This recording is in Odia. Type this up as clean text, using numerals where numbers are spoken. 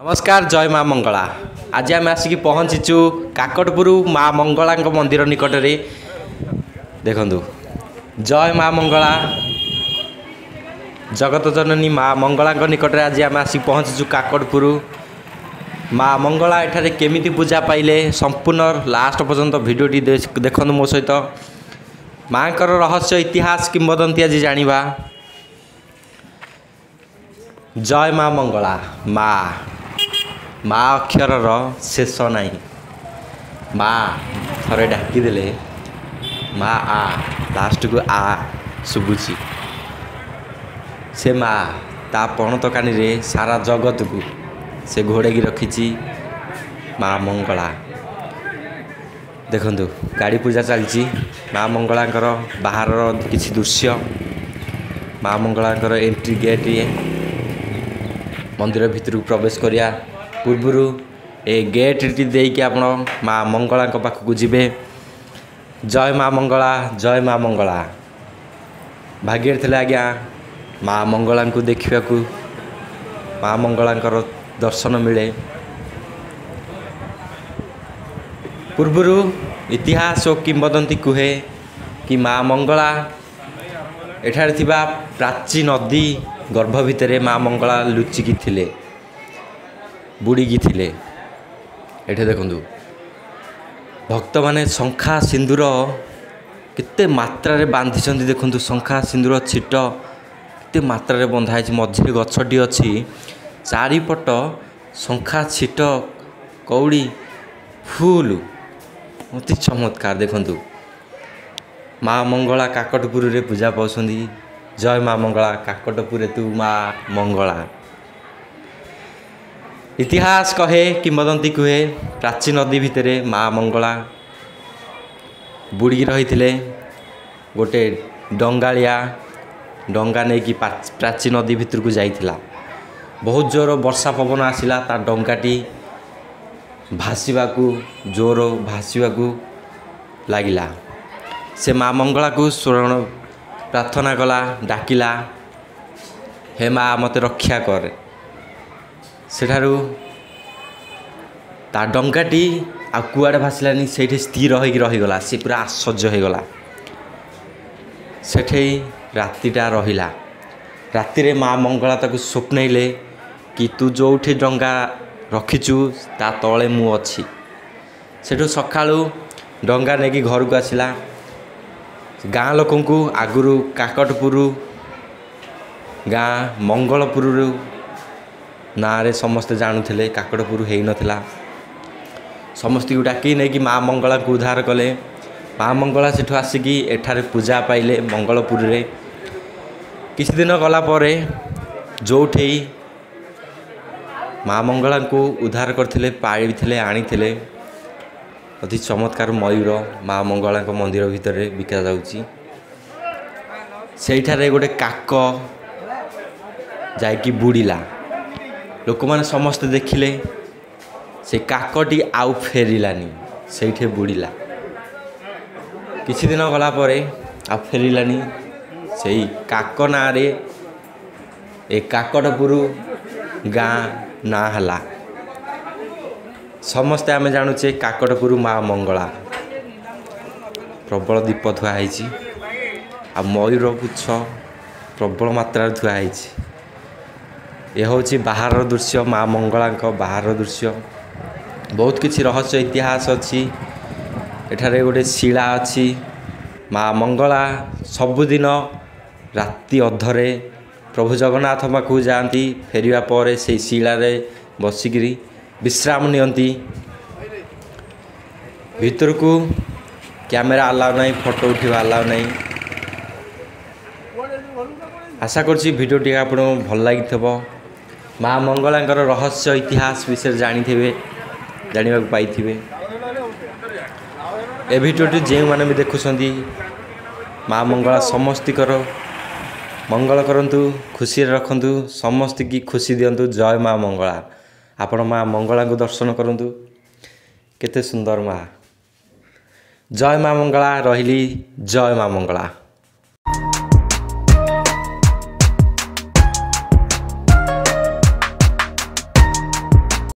ନମସ୍କାର, ଜୟ ମା ମଙ୍ଗଳା। ଆଜି ଆମେ ଆସିକି ପହଞ୍ଚିଛୁ କାକଟପୁର ମା ମଙ୍ଗଳାଙ୍କ ମନ୍ଦିର ନିକଟରେ। ଦେଖନ୍ତୁ, ଜୟ ମା ମଙ୍ଗଳା। ଜଗତ ଜନନୀ ମା ମଙ୍ଗଳାଙ୍କ ନିକଟରେ ଆଜି ଆମେ ଆସିକି ପହଞ୍ଚିଛୁ କାକଟପୁର। ମା ମଙ୍ଗଳା ଏଠାରେ କେମିତି ପୂଜା ପାଇଲେ, ସମ୍ପୂର୍ଣ୍ଣ ଲାଷ୍ଟ ପର୍ଯ୍ୟନ୍ତ ଭିଡ଼ିଓଟି ଦେଖନ୍ତୁ ମୋ ସହିତ। ମାଙ୍କର ରହସ୍ୟ, ଇତିହାସ, କିମ୍ବଦନ୍ତୀ ଆଜି ଜାଣିବା। ଜୟ ମା ମଙ୍ଗଳା। ମା, ମା ଅକ୍ଷରର ଶେଷ ନାହିଁ। ମା ଥରେ ଡାକିଦେଲେ ମା ଆ, ଲାଷ୍ଟକୁ ଆ ଶୁଭୁଛି। ସେ ମା ତା ପଣତ କାନିରେ ସାରା ଜଗତକୁ ସେ ଘୋଡ଼େଇକି ରଖିଛି ମା ମଙ୍ଗଳା। ଦେଖନ୍ତୁ, ଗାଡ଼ି ପୂଜା ଚାଲିଛି। ମା ମଙ୍ଗଳାଙ୍କର ବାହାରର କିଛି ଦୃଶ୍ୟ। ମା ମଙ୍ଗଳାଙ୍କର ଏଣ୍ଟ୍ରି ଗେଟ୍ ଇଏ। ମନ୍ଦିର ଭିତରକୁ ପ୍ରବେଶ କରିବା ପୂର୍ବରୁ ଏ ଗେଟ୍ଟି ଦେଇକି ଆପଣ ମା ମଙ୍ଗଳାଙ୍କ ପାଖକୁ ଯିବେ। ଜୟ ମା ମଙ୍ଗଳା, ଜୟ ମା ମଙ୍ଗଳା। ଭାଗ୍ୟରେ ଥିଲେ ଆଜ୍ଞା ମା ମଙ୍ଗଳାଙ୍କୁ ଦେଖିବାକୁ, ମା ମଙ୍ଗଳାଙ୍କର ଦର୍ଶନ ମିଳେ। ପୂର୍ବରୁ ଇତିହାସ ଓ କିମ୍ବଦନ୍ତୀ କୁହେ କି ମା ମଙ୍ଗଳା ଏଠାରେ ଥିବା ପ୍ରାଚୀ ନଦୀ ଗର୍ଭ ଭିତରେ ମା ମଙ୍ଗଳା ଲୁଚିକି ଥିଲେ, ବୁଡ଼ିକି ଥିଲେ। ଏଠି ଦେଖନ୍ତୁ, ଭକ୍ତମାନେ ଶଙ୍ଖା ସିନ୍ଦୁର କେତେ ମାତ୍ରାରେ ବାନ୍ଧିଛନ୍ତି। ଦେଖନ୍ତୁ, ଶଙ୍ଖା ସିନ୍ଦୁର ଛିଟ କେତେ ମାତ୍ରାରେ ବନ୍ଧା ହେଇଛି। ମଝିରେ ଗଛଟି ଅଛି, ଚାରିପଟ ଶଙ୍ଖା ଛିଟ କଉଡ଼ି ଫୁଲ, ଅତି ଚମତ୍କାର। ଦେଖନ୍ତୁ, ମା ମଙ୍ଗଳା କାକଟପୁରରେ ପୂଜା ପାଉଛନ୍ତି। ଜୟ ମା ମଙ୍ଗଳା। କାକଟପୁରେ ତୁ ମା ମଙ୍ଗଳା। ଇତିହାସ କହେ, କିମ୍ବଦନ୍ତୀ କୁହେ, ପ୍ରାଚୀ ନଦୀ ଭିତରେ ମା ମଙ୍ଗଳା ବୁଡ଼ିକି ରହିଥିଲେ। ଗୋଟେ ଡଙ୍ଗାଳିଆ ଡଙ୍ଗା ନେଇକି ପ୍ରାଚୀ ନଦୀ ଭିତରକୁ ଯାଇଥିଲା। ବହୁତ ଜୋର ବର୍ଷା ପବନ ଆସିଲା, ତା ଡଙ୍ଗାଟି ଭାସିବାକୁ, ଜୋର ଭାସିବାକୁ ଲାଗିଲା। ସେ ମା ମଙ୍ଗଳାକୁ ସ୍ମରଣ ପ୍ରାର୍ଥନା କଲା, ଡାକିଲା, ହେ ମା, ମୋତେ ରକ୍ଷା କରେ। ସେଠାରୁ ତା ଡଙ୍ଗାଟି ଆଉ କୁଆଡ଼େ ଭାସିଲାନି, ସେଇଠି ସ୍ଥିର ହେଇକି ରହିଗଲା। ସେ ପୁରା ଆଶ୍ଚର୍ଯ୍ୟ ହେଇଗଲା। ସେଠି ରାତିଟା ରହିଲା। ରାତିରେ ମା ମଙ୍ଗଳା ତାକୁ ସ୍ୱପ୍ନେଇଲେ କି ତୁ ଯେଉଁଠି ଡଙ୍ଗା ରଖିଛୁ ତା ତଳେ ମୁଁ ଅଛି। ସେଠୁ ସକାଳୁ ଡଙ୍ଗା ନେଇକି ଘରକୁ ଆସିଲା। ଗାଁ ଲୋକଙ୍କୁ, ଆଗରୁ କାକଟପୁର ଗାଁ ମଙ୍ଗଳପୁରରୁ ନାଁରେ ସମସ୍ତେ ଜାଣୁଥିଲେ, କାକଟପୁର ହେଇନଥିଲା। ସମସ୍ତଙ୍କୁ ଡାକି ନେଇକି ମା ମଙ୍ଗଳାଙ୍କୁ ଉଦ୍ଧାର କଲେ। ମା ମଙ୍ଗଳା ସେଠୁ ଆସିକି ଏଠାରେ ପୂଜା ପାଇଲେ ମଙ୍ଗଳପୁରରେ। କିଛି ଦିନ ଗଲା ପରେ ଯେଉଁଠି ମା ମଙ୍ଗଳାଙ୍କୁ ଉଦ୍ଧାର କରିଥିଲେ, ପାଳିଥିଲେ, ଆଣିଥିଲେ, ଅତି ଚମତ୍କାର ମୟୂର ମା ମଙ୍ଗଳାଙ୍କ ମନ୍ଦିର ଭିତରେ ବିକା ଯାଉଛି। ସେଇଠାରେ ଗୋଟେ କାକ ଯାଇକି ବୁଡ଼ିଲା। ଲୋକମାନେ ସମସ୍ତେ ଦେଖିଲେ, ସେ କାକଟି ଆଉ ଫେରିଲାନି, ସେଇଠି ବୁଡ଼ିଲା। କିଛି ଦିନ ଗଲା ପରେ ଆଉ ଫେରିଲାନି। ସେଇ କାକ ନାଁରେ ଏ କାକଟପୁର ଗାଁ ନାଁ ହେଲା। ସମସ୍ତେ ଆମେ ଜାଣୁଛେ କାକଟପୁର ମା ମଙ୍ଗଳା। ପ୍ରବଳ ଦୀପ ଥୁଆ ହେଇଛି ଆଉ ମୟୂର ପୁଚ୍ଛ ପ୍ରବଳ ମାତ୍ରାରେ ଥୁଆ ହେଇଛି। ଏ ହେଉଛି ବାହାରର ଦୃଶ୍ୟ, ମା ମଙ୍ଗଳାଙ୍କ ବାହାରର ଦୃଶ୍ୟ। ବହୁତ କିଛି ରହସ୍ୟ ଇତିହାସ ଅଛି। ଏଠାରେ ଗୋଟେ ଶିଳା ଅଛି। ମା ମଙ୍ଗଳା ସବୁଦିନ ରାତି ଅଧରେ ପ୍ରଭୁ ଜଗନ୍ନାଥ ପାଖକୁ ଯାଆନ୍ତି। ଫେରିବା ପରେ ସେଇ ଶିଳାରେ ବସିକିରି ବିଶ୍ରାମ ନିଅନ୍ତି। ଭିତରକୁ କ୍ୟାମେରା ଆଲାଉ ନାହିଁ, ଫଟୋ ଉଠିବା ଆଲାଉ ନାହିଁ। ଆଶା କରୁଛି ଭିଡ଼ିଓଟି ଆପଣଙ୍କୁ ଭଲ ଲାଗିଥିବ। ମା ମଙ୍ଗଳାଙ୍କର ରହସ୍ୟ ଇତିହାସ ବିଷୟରେ ଜାଣିଥିବେ, ଜାଣିବାକୁ ପାଇଥିବେ। ଏ ଭିଡ଼ିଓଟି ଯେଉଁମାନେ ବି ଦେଖୁଛନ୍ତି, ମା ମଙ୍ଗଳା ସମସ୍ତଙ୍କର ମଙ୍ଗଳ କରନ୍ତୁ, ଖୁସିରେ ରଖନ୍ତୁ, ସମସ୍ତଙ୍କୁ ଖୁସି ଦିଅନ୍ତୁ। ଜୟ ମା ମଙ୍ଗଳା। ଆପଣ ମା ମଙ୍ଗଳାଙ୍କୁ ଦର୍ଶନ କରନ୍ତୁ, କେତେ ସୁନ୍ଦର ମା। ଜୟ ମା ମଙ୍ଗଳା। ରହିଲି, ଜୟ ମା ମଙ୍ଗଳା।